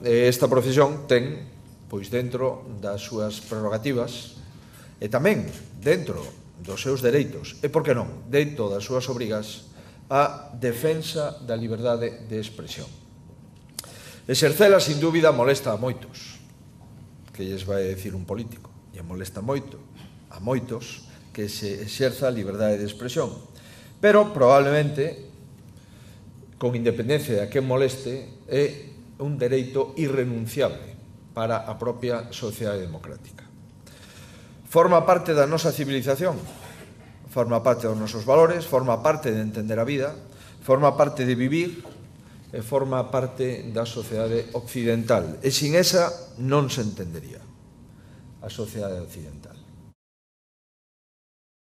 esta profesión ten, pois dentro das súas prerrogativas e tamén dentro dos seus dereitos e, por que non, dentro das súas obrigas, a defensa da liberdade de expresión. Exercela, sin dúbida, molesta a moitos, que lles vai decir un político, e molesta moito a moitos que se exerza a liberdade de expresión, pero probablemente, con independencia de a quen moleste, é un dereito irrenunciable para a propia sociedade democrática. Forma parte da nosa civilización, forma parte dos nosos valores, forma parte de entender a vida, forma parte de vivir e forma parte da sociedade occidental. E sin esa non se entendería a sociedade occidental.